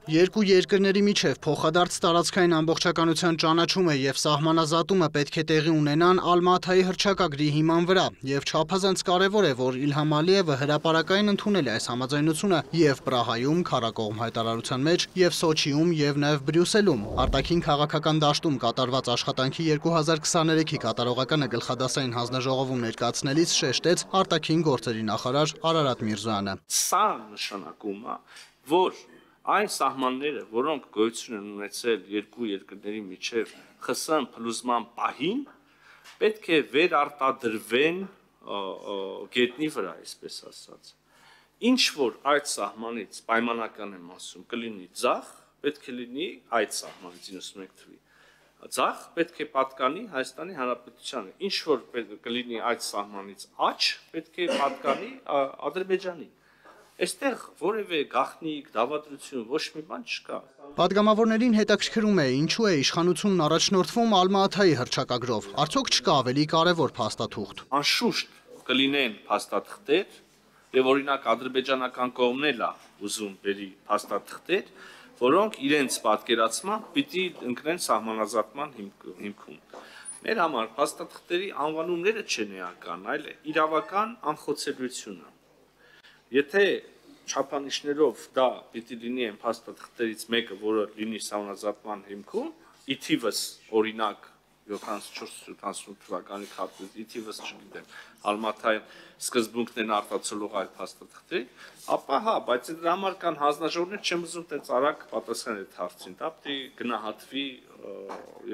Երկու երկրների միջև փոխադարձ տարածքային ամբողջականության ճանաչումը եւ սահմանազատումը պետք է տեղի ունենան Ալմատայի հռչակագրի հիման վրա, եւ չափազանց կարեւոր է, որ Իլհամ Ալիևը հրապարակային ընդունել է այս համաձայնությունը եւ Պրահայում քարակողմ հայտարարության մեջ, եւ Սոչիում եւ նաեւ Բրյուսելում արտաքին քաղաքական դաշտում կատարված աշխատանքի 2023-ի կատարողականը գլխադասային հանձնաժողովում ներկայացնելիս շեշտեց արտաքին գործերի նախարար Արարատ Միրզոյանը։ Սա նշանակում է, որ այն սահմանները, որոնք գոյություն են ունեցել երկու երկրների միջև ԽՍՀՄ փլուզման պահին, պետք է վերարտադրվեն գետնի վրա, այսպես ասած։ Ինչ որ այդ սահմանից պայմանական եմ ասում, կլինի ձախ, պետք է լինի այդ սահմանից 91 թվի։ Ձախ պետք է պատկանի Հայաստանի Հանրապետությանը։ Ինչ որ կլինի այդ սահմանից աջ, պետք է պատկանի Ադրբեջանին։ Այստեղ որևէ գաղտնիք, դավադրություն, ոչ մի բան չկա։ Պատգամավորներին հետաքրքրում է, ինչու է իշխանությունն առաջնորդվում Ալմատայի հռչակագրով։ Արդյոք չկա ավելի կարևոր փաստաթուղթ։ Անշուշտ կլինեն փաստաթղթեր, եւ օրինակ ադրբեջանական կողմն էլ է ուզում բերի փաստաթղթեր, որոնք իրենց պատկերացմամբ պիտի ընկնեն սահմանազատման հիմքում։ Մեր համար փաստաթղթերի անվանումները չեն էական, այլ իրավական անխոցելիությունը։ Եթե չափանիշներով դա պիտի լինի այն փաստաթղթերից մեկը, որը լինի սահմանազատման հիմքում, ի թիվս օրինակ 74-78 թվականի քարտեզի, ի թիվս չգիտեմ, Ալմատայի սկզբունքն են արտացոլող այդ փաստաթղթերի, ապա հա, բայց դրա համար կան հանձնաժողովներ, չեմ ուզում տենց արագ պատասխանել այդ հարցին, դա պիտի գնահատվի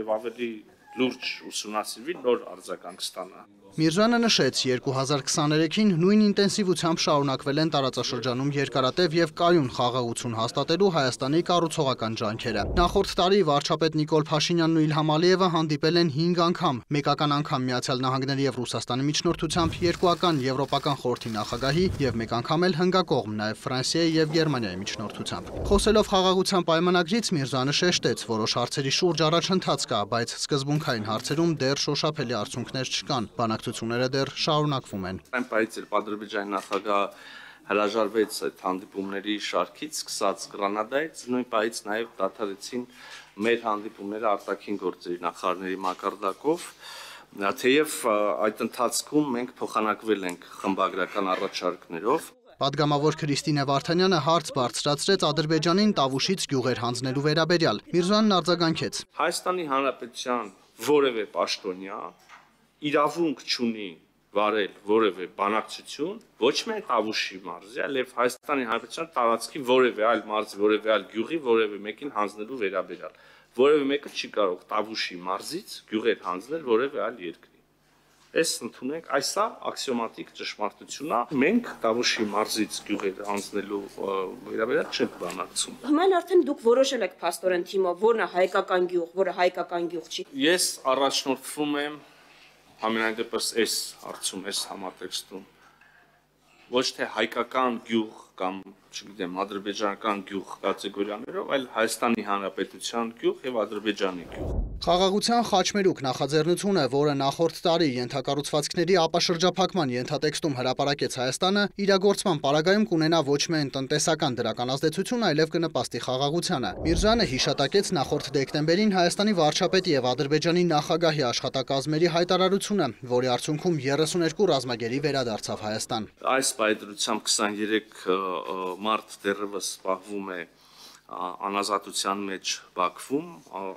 եւ ավելի լուրջ ուսումնասիրվի, նոր արձագանք ստանա։ Միրզոյանը նշեց, 2023-ին նույն ինտենսիվությամբ շարունակվել են տարածաշրջանում երկարատև եւ կայուն խաղաղություն հաստատելու Հայաստանի կառուցողական ջանքերը։ Նախորդ տարի վարչապետ Նիկոլ Փաշինյանն ու Իլհամ Ալիևը հանդիպել են 5 անգամ, մեկական անգամ Միացյալ Նահանգների եւ Ռուսաստանի միջնորդությամբ, երկուական Եվրոպական խորհրդի նախագահի եւ մեկ անգամ էլ հնգակողմ նաեւ Ֆրանսիայի եւ Գերմանիայի միջնորդությամբ։ Խոսելով խաղաղության պայմանագրից Միրզոյանը շեշտեց, որոշ հարցերի շուրջ առաջընթաց կա, բայց սկզբունքային հարցերում դեռ շոշափելի արդյունքներ չկան։ Բանակցությունները դեռ շարունակվում են։ Այն պայից էլ Ադրբեջանի նախագահ հրաժարվեց այդ հանդիպումների շարքից, սկսած Գրանադայից, նույն պայից նաև դադարեցին մեր հանդիպումները արտաքին գործերի նախարարների մակարդակով, թեև այդ ընթացքում մենք փոխանակվել ենք խմբագրական առաջարկներով։ Պատգամավոր Քրիստինե Վարդանյանը հարց բարձրացրեց Ադրբեջանին Տավուշից գյուղեր հանձնելու վերաբերյալ։ Միրզոյանն արձագանքեց. Հայաստանի Հանրապետության որևէ պաշտոնյա իրավունք չունի վարել որևէ բանակցություն, ոչ միայն Տավուշի մարզի, այլև Հայաստանի Հանրապետության տարածքի որևէ այլ մարզի, որևէ այլ գյուղի, որևէ մեկին հանձնելու վերաբերյալ։ Որևէ մեկը չի կարող Տավուշի մարզից գյուղեր հանձնել որևէ այլ երկրի։ Այս ընդունենք, այսա աքսիոմատիկ ճշմարտություն է։ Մենք Տավուշի մարզից գյուղեր հանձնելու վերաբերյալ չենք բանակցում։ Հիմա արդեն դուք որոշել եք փաստորեն թիմով, որն է հայկական գյուղ, որը հայկական գյուղ չի։ Ես առաջնորդվում եմ Համենայնդեպս այս հարցում, այս համատեքստում ոչ թե հայկական գյուղ կամ, չգիտեմ, ադրբեջանական գյուղ կատեգորիաներով, այլ Հայաստանի Հանրապետության գյուղ եւ Ադրբեջանի գյուղ։ Խաղաղության խաչմերուկ նախաձեռնությունը, որը նախորդ տարի ենթակառուցվածքների ապաշրջափակման ենթատեքստում հրապարակեց Հայաստանը, իրագործման պարագայում կունենա ոչ միայն տնտեսական դրական ազդեցություն, այլև կնպաստի խաղաղությանը։ Միրզոյանը հիշատակեց նախորդ դեկտեմբերին Հայաստանի վարչապետի եւ Ադրբեջանի նախագահի աշխատակազմերի հայտարարությունը, որի արդյունքում 32 ռազմագերի վերադարձավ Հայաստան։ Այս պայծրությամբ 23 մարտ դեռևս զբաղվում է անազատության մեջ Բաքվում,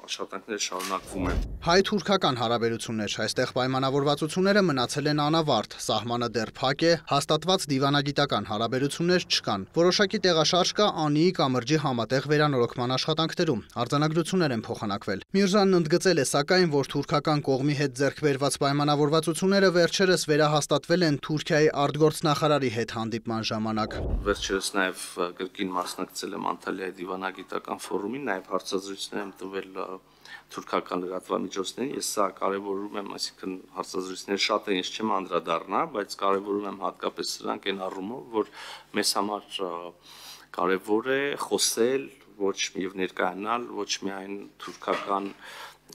աշխատանքները շարունակվում են։ Հայ-թուրքական հարաբերություններ, այստեղ պայմանավորվածությունները մնացել են անավարտ, սահմանը դեռ փակ է, հաստատված դիվանագիտական հարաբերություններ չկան։ Որոշակի տեղաշարժ կա Անիի կամրջի համատեղ վերանորոգման աշխատանքներում, արձանագրություններ են փոխանակվել։ Միրզոյանն ընդգծել է սակայն, որ թուրքական կողմի հետ ձեռք բերված պայմանավորվածությունները վերջերս վերահաստատվել են Թուրքիայի արտգործնախարարի հետ հանդիպման ժամանակ։ Վերջերս նաև կրկին մասնակցել եմ Անտալիայի դիվանագիտական ֆորումին, նաև հարցազրույցներ եմ տվել թուրքական լրատվամիջոցներին, ես սա կարևորում եմ, այսինքն հարցազրույցները շատ են, ես չեմ անդրադառնա, բայց կարևորում եմ հատկապես սրանք այն առումով, որ մեզ համար կարևոր է խոսել ոչ եւ ներկայանալ ոչ միայն թուրքական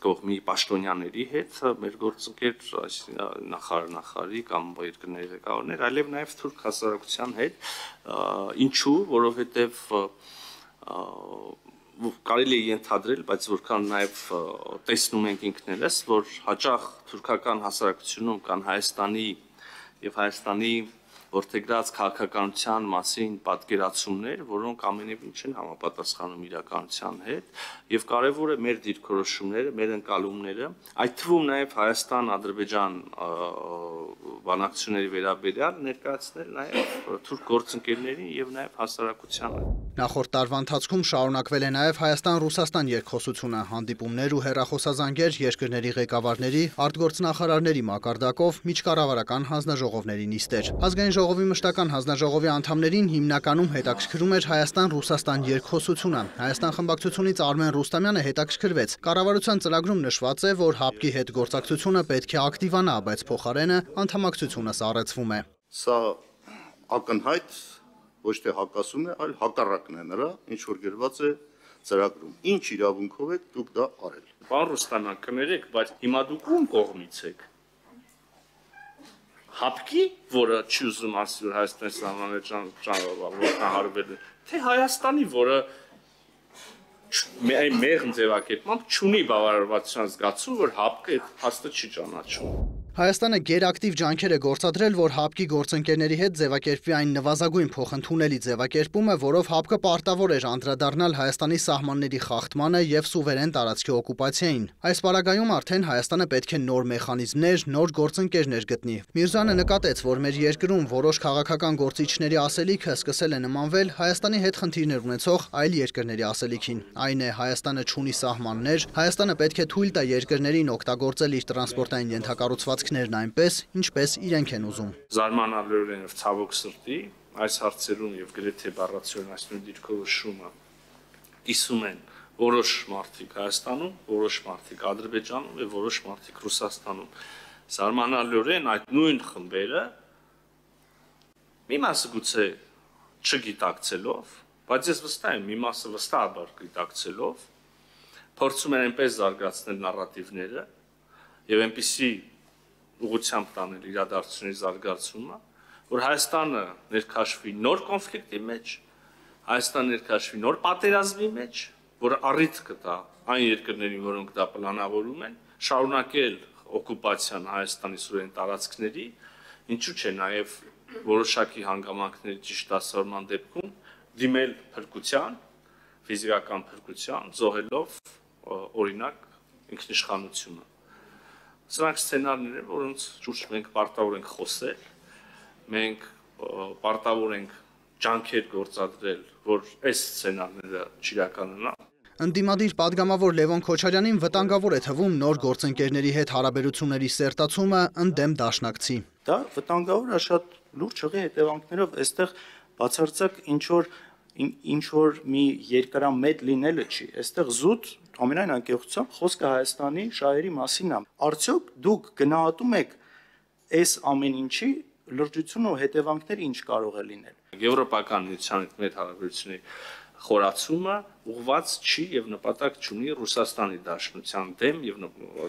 կողմի պաշտոնյաների հետ, մեր գործընկեր նախարարի կամ երկրների ղեկավարներ, այլև նաև թուրք հասարակության հետ, ինչու, որովհետև կարելի է ենթադրել, բայց որքան նաև տեսնում ենք ինքներս, որ հաճախ թուրքական հասարակությունում կան Հայաստանի եւ Հայաստանի որդեգրած քաղաքականության մասին պատկերացումներ, որոնք ամենևին չեն համապատասխանում իրականության հետ, եւ կարեւոր է մեր դիրքորոշումները, մեր ընկալումները, այդ թվում նաեւ Հայաստան-Ադրբեջան բանակցությունների վերաբերյալ ներկայացնել նաեւ թուրք գործընկերներին եւ նաեւ հասարակությանը։ Նախորդ տարվա ընթացքում շարունակվել է նաեւ Հայաստան-Ռուսաստան երկխոսությունը, հանդիպումներ ու հեռախոսազանգեր երկրների ղեկավարների, արտգործնախարարների մակարդակով, միջկառավարական հանձնաժողովների նիստեր։ Ազգային ժողովի մշտական հանձնաժողովի անդամներին հիմնականում հետաքրքրում էր Հայաստան-Ռուսաստան երկխոսությունը։ Հայաստան խմբակցությունից Արմեն Ռուստամյանը հետաքրքրվեց։ Կառավարության ծրագրում նշված է, որ ՀԱՊԿ-ի հետ գործակցությունը պետք է ակտիվանա, բայց փոխարենը անդամակցությունը սառեցվում է։ Սա ակնհայտ ոչ թե հակասում է, այլ հակառակն է նրա, ինչ որ գրված է ծրագրում։ Ինչ իրավունքով եք դուք դա արել։ Պարոն Ռուստամյան, կներեք, բայց հիմա դուք ում կողմից եք։ ՀԱՊԿ-ի, որը չի ուզում ասի, որ Հայաստանի սահմանները հարվել է, թե Հայաստանի, որը մեղմ ձևակերպմամբ չունի բավարարվածության զգացում, որ ՀԱՊԿ-ը այդ փաստը չի ճանաչում։ Հայաստանը գերակտիվ ջանքեր է գործադրել, որ ՀԱՊԿ-ի գործընկերների հետ ձևակերպվի այն նվազագույն փոխընդունելի ձևակերպումը, որով ՀԱՊԿ-ը պարտավոր էր անդրադառնալ Հայաստանի սահմանների խախտմանը եւ սուվերեն տարածքի օկուպացիային։ Այս պարագայում արդեն Հայաստանը պետք է նոր մեխանիզմներ, նոր գործընկերներ գտնի։ Միրզյանը նկատեց, որ մեր երկրում որոշ քաղաքական գործիչների ասելիքը սկսել է նմանվել Հայաստանի հետ խնդիրներ ունեցող այլ երկրների ասելիքին։ Այն է, Հայաստանը չունի սահմաններ, Հայաստանը պետք է թույլ տա երկրներին օգտագործել իր տրանսպորտային ենթակառուցվածքներն այնպես, ինչպես իրենք են ուզում։ Զարմանալիորեն եւ ցավոք սրտի այս հարցերում եւ գրեթե բառացիորեն այս նույն դիրքորոշումը կիսում են որոշ մարդիկ Հայաստանում, որոշ մարդիկ Ադրբեջանում եւ որոշ մարդիկ Ռուսաստանում։ Զարմանալիորեն այդ նույն խմբերը մի մասը գուցե չգիտակցելով, բայց ես վստահ եմ, մի մասը վստահաբար գիտակցելով փորձում են այնպես զարգացնել նարատիվները եւ այնպիսի ուղղությամբ տանել իրադարձությունների զարգացումը, որ Հայաստանը ներքաշվի նոր կոնֆլիկտի մեջ, Հայաստանը ներքաշվի նոր պատերազմի մեջ, որը առիթ կտա այն երկրներին, որոնք դա պլանավորում են, շարունակել օկուպացիան Հայաստանի սուրեն տարածքների, ինչու՞ չէ նաև որոշակի հանգամանքների ճիշտ դասավորման դեպքում դիմել փրկության, ֆիզիկական փրկության, զոհելով օրինակ ինքնիշխանությունը։ Սրանք սցենարներ են, որոնց շուրջ մենք պարտավոր ենք խոսել, մենք պարտավոր ենք ջանքեր գործադրել, որ այս սցենարները չիրականանան։ Ընդդիմադիր падգամավոր Լևոն Քոչարյանին վտանգավոր է թվում նոր գործընկերների հետ հարաբերությունների սերտացումը ընդդեմ դաշնակցի։ Դա վտանգավոր է շատ լուրջ հղի հետևանքներով, այստեղ բացարձակ ինչ որ մի երկարամետ լինելը չի, այստեղ զուտ ամենայն անկեղծությամբ խոսքը Հայաստանի շահերի մասին է։ Արդյոք դուք գնահատում եք այս ամեն ինչի լրջությունը ու հետևանքները ինչ կարող է լինել։ Եվրոպական միության հետ մեր հարաբերությունների խորացումը ուղղված չի եւ նպատակ չունի Ռուսաստանի Դաշնության դեմ եւ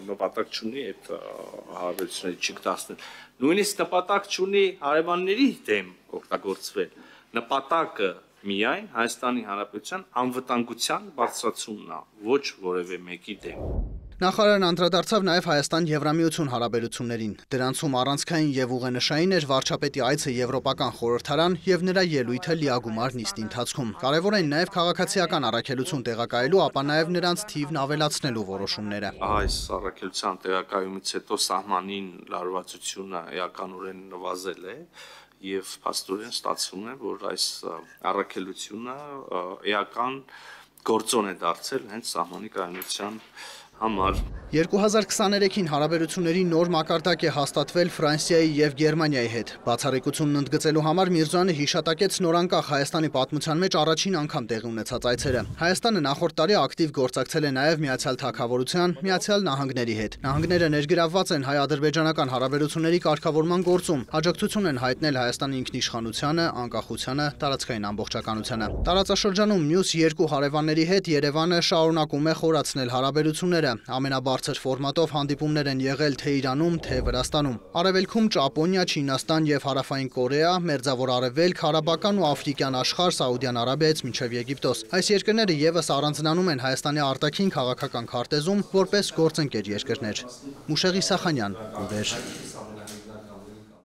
նպատակ չունի այդ հարաբերությունների չկտացնել։ Նույնիսկ նպատակ չունի հարևանների դեմ օգտագործվել։ Նպատակը միայն Հայաստանի Հանրապետության անվտանգության բարձրացումն է, ոչ որևէ մեկի դեմ։ Նախարարն անդրադարձավ նաև Հայաստան-Եվրամիություն հարաբերություններին։ Դրանցում առանցքային եւ ուղենշային էր վարչապետի այցը Եվրոպական խորհրդարան եւ նրա ելույթը լիագումար նիստի ընթացքում։ Կարևոր են նաև քաղաքացիական առաքելություն տեղակայելու, ապա նաև նրանց թիվն ավելացնելու որոշումները։ Այս առաքելության տեղակայումից հետո սահմանին լարվածությունը էականորեն նվազել է եւ փաստորեն ստացվում է, որ այս առաքելությունը էական գործոն է դարձել հենց սահմանի կայունության համար։ 2023-ին հարաբերությունների նոր մակարդակ է հաստատվել Ֆրանսիայի եւ Գերմանիայի հետ։ Բացառիկությունն ընդգծելու համար Միրզյանը հիշատակեց նորանկախ Հայաստանի պատմության մեջ առաջին անգամ տեղի ունեցած այցերը։ Հայաստանը նախորդ տարի ակտիվ գործակցել է նաեւ Միացյալ Թագավորության, Միացյալ Նահանգների հետ։ Նահանգները ներգրավված են հայ-ադրբեջանական հարաբերությունների կարգավորման գործում, աջակցություն են հայտնել Հայաստանի ինքնիշխանությանը, անկախությանը, տարածքային ամբողջականությանը։ Տարածաշրջանում մյուս երկու հարևանների հետ Երևանը շարունակում է խորացնել հարաբերությունները։ Ամենաբարձր ֆորմատով հանդիպումներ են եղել թե Իրանում, թե Վրաստանում։ Արևելքում Ճապոնիա, Չինաստան եւ Հարավային Կորեա, Մերձավոր Արևելք, Հարաբական ու Աֆրիկյան աշխարհ, Սաուդյան Արաբիայից մինչև Եգիպտոս։ Այս երկրները եւս առանձնանում են Հայաստանի արտաքին քաղաքական քարտեզում որպես գործընկեր երկրներ։ Մուշեղ Իսախանյան, Լուրեր։